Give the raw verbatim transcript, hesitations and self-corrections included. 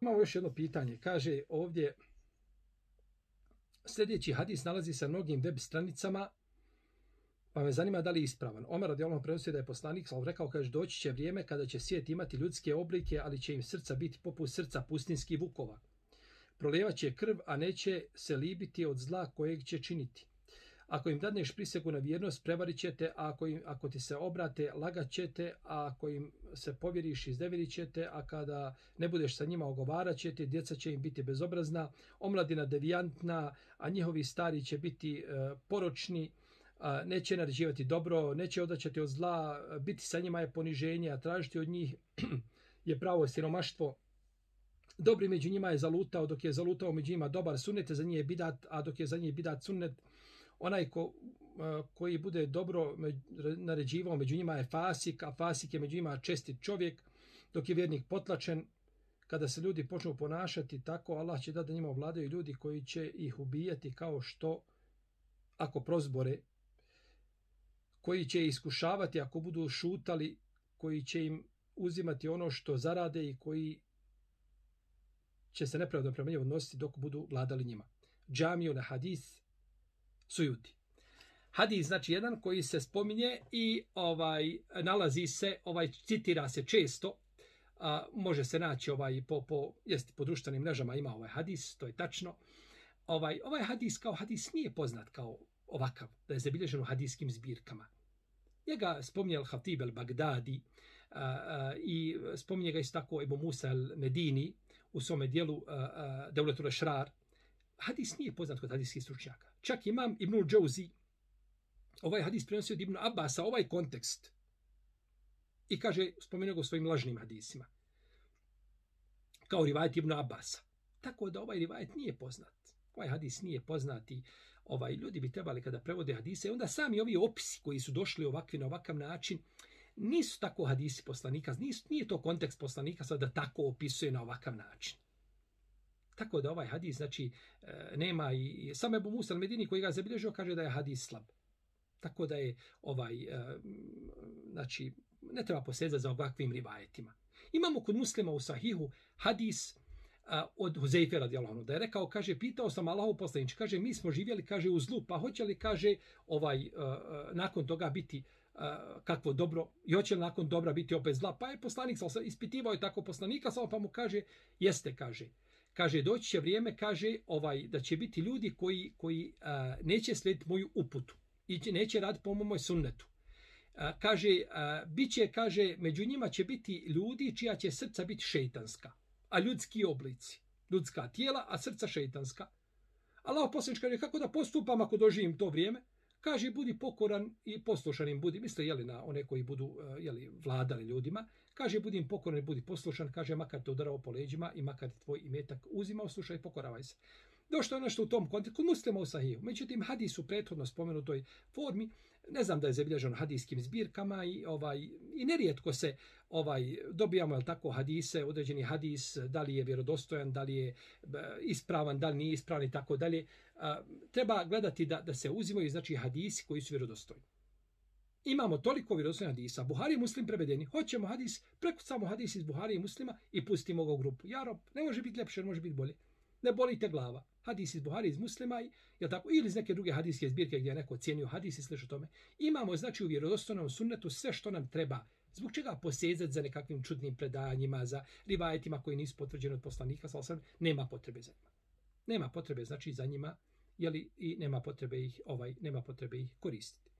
Imamo još jedno pitanje. Kaže ovdje, sljedeći hadis nalazi se na mnogim web stranicama, pa me zanima da li je ispravan. Omer radijallahu anhu prenosi da je poslanik sallallahu rekao, kaže, doći će vrijeme kada će svijet imati ljudske oblike, ali će im srca biti poput srca pustinskih vukova. Prolijevat će krv, a neće se libiti od zla kojeg će činiti. Ako im dadneš prisegu na vjernost, prevarit ćete, a ako, im, ako ti se obrate, lagat ćete, a ako im se povjeriš, iznevjerit ćete, a kada ne budeš sa njima ogovarat ćete, djeca će im biti bezobrazna, omladina devijantna, a njihovi stari će biti uh, poročni, uh, neće naređivati dobro, neće odaćati od zla, biti sa njima je poniženje, a tražiti od njih je pravo siromaštvo. Dobri među njima je zalutao, dok je zalutao među njima dobar sunnet, za njih je bidat, a dok je za njih bidat sunnet, onaj ko, koji bude dobro naređivao među njima je fasik, a fasik je među njima čestit čovjek, dok je vjernik potlačen. Kada se ljudi počnu ponašati tako, Allah će da da njima ovladaju ljudi koji će ih ubijati kao što, ako prozbore, koji će iskušavati ako budu šutali, koji će im uzimati ono što zarade i koji će se nepravedno prema njima odnositi dok budu vladali njima. Džamiju na hadis Sujuti. Hadis znači jedan koji se spominje i ovaj nalazi se, ovaj citira se često, a, može se naći ovaj po po jest po društvenim mrežama ima ovaj hadis, to je tačno. Ovaj ovaj hadis kao hadis nije poznat kao ovakav, da je zabilježen u hadijskim zbirkama. Njega spominje al-Hatib al-Bagdadi a, a, i spominje ga isto tako Ebu Musa al-Medini u svome dijelu Devletul Ešrar. Hadis nije poznat kod hadijskih stručnjaka. Čak imam Ibnul Džauzi, ovaj hadis prenosio od Ibnu Abasa, ovaj kontekst. I kaže, spomenuo ga u svojim lažnim hadisima. Kao rivajet Ibnu Abasa. Tako da ovaj rivajet nije poznat. Ovaj hadis nije poznati. Ovaj, ljudi bi trebali kada prevode hadise, onda sami ovi opisi koji su došli ovakvi na ovakav način, nisu tako hadisi poslanika, nisu, nije to kontekst poslanika sad da tako opisuje na ovakav način. Tako da ovaj hadis, znači, nema i sam Ebu Musa al-Medini koji ga zabilježio kaže da je hadis slab. Tako da je ovaj, znači, ne treba posezati za ovakvim rivajetima. Imamo kod Muslima u Sahihu hadis od Huzeyfe radijallahu anhu, da je rekao, kaže, pitao sam Allahov poslaniče, kaže, mi smo živjeli, kaže, u zlu, pa hoće li, kaže, ovaj, nakon toga biti kakvo dobro, i hoće li nakon dobra biti opet zla, pa je poslanik, ispitivao je tako poslanika, samo pa mu kaže, jeste, kaže, Kaže, doći će vrijeme, kaže, ovaj da će biti ljudi koji, koji a, neće slijediti moju uputu i neće raditi po mojoj sunnetu. A, kaže, a, bit će, kaže, među njima će biti ljudi čija će srca biti šeitanska, a ljudski oblici, ljudska tijela, a srca šeitanska. Allah poslanik kaže, kako da postupam ako doživim to vrijeme? Kaže, budi pokoran i poslušan im budi. Misle, jeli, na one koji budu jeli, vladali ljudima. Kaže, budi im pokoran i budi poslušan. Kaže, makar te udarao po leđima i makar tvoj imetak uzimao, slušaj, pokoravaj se. Došto je nešto u tom kontekstu, kod Muslima u Sahiju. Međutim, hadis u prethodno spomenutoj formi, ne znam da je zabilježeno hadijskim zbirkama i ovaj i nerijetko se ovaj dobijamo el tako hadise, određeni hadis, da li je vjerodostojan, da li je ispravan, da li nije ispravan i tako dalje. Treba gledati da da se uzimaju znači hadisi koji su vjerodostojni. Imamo toliko vjerodostojnih hadisa, Buhari i Muslim prevedeni. Hoćemo hadis, prekucamo hadis iz Buhari i Muslima i pustimo ga u grupu. Jarob, ne može biti ljepše, može biti bolje. Ne boli te glava. Hadis iz Buhari, iz Muslima, je tako, ili iz neke druge hadijske zbirke gdje je neko cijenio hadis i slično tome. Imamo, znači, u vjerodostojnom sunnetu sve što nam treba. Zbog čega posezati za nekakvim čudnim predanjima, za rivajetima koji nisu potvrđeni od poslanika, sallallahu alejhi ve sellem, nema potrebe za njima. Nema potrebe, znači, za njima, jeli, i nema potrebe ih, ovaj, nema potrebe ih koristiti.